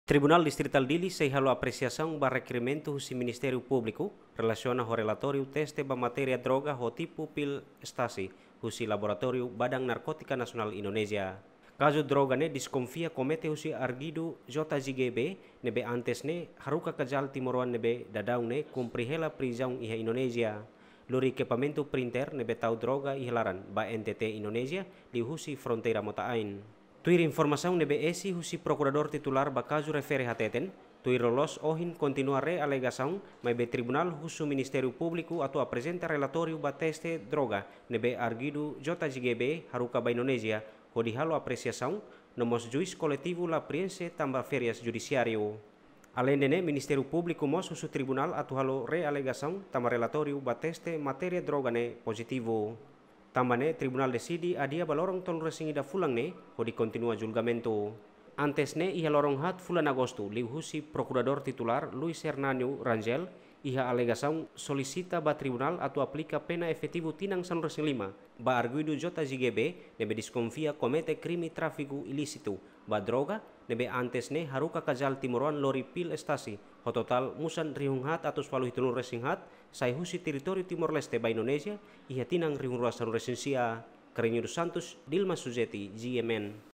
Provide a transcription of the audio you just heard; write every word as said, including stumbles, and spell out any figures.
Tribunál Distritál Dili sei halo apresiasaun ba rekerimentu husi Ministériu Públiku relasiona ho relatóriu teste ba matéria droga ho tipu pil ekstasi husi laboratóriu Badan Narkótika Nasionál Indonézia. Kazu droga ne'e deskonfia komete husi arguidu J J G B ne'ebé antes ne'e haruka kajal timoroan ne'ebé daudaun ne'e kumpre hela prizaun iha Indonézia. Lori ekipamentu printer ne'ebé tau droga iha laran ba N T T Indonézia liuhusi fronteira mota-ain. Tuir informasaun ne'ebé esi husi prokuradór titulár ba kazu refere hateten, tuir loloos ohin kontinua realegasaun, maibé tribunál husu Ministériu Públiku atu aprezenta relatóriu ba teste droga ne'ebé arguidu J J G B haruka ba Indonézia, hodi halo apresiasaun, no mós juís koletivu la preenxe tanba férias judisiáriu. Aleinde ne'e, Ministériu Públiku mós husu tribunál atu halo realegasaun tanba relatóriu ba teste matéria droga ne'e pozitivu. Tanba ne'e, tribunál deside adia ba loron tolunulu-resin-ida fulan ne'e hodi kontinua julgamentu. Antes ne'e, iha loron haat fulan Agostu, liuhusi prokuradór titulár Luis Hernanio Rangel, iha alegasaun solisita ba tribunál atu aplika pena efetivu tinan sanulu-resin-lima ba arguidu J J G B ne'ebé deskonfia komete krime tráfiku ilísitu ba droga ne'ebé antes ne'e haruka kajal timoroan lori pil ekstasi ho totál musan rihun haat atus walu hitunulu-resin-haat sai husi territóriu Timor-Leste ba Indonézia iha tinan rihun rua sanulu-resin-sia. Carreño dos Santos, Dilma Suzeti, G M N.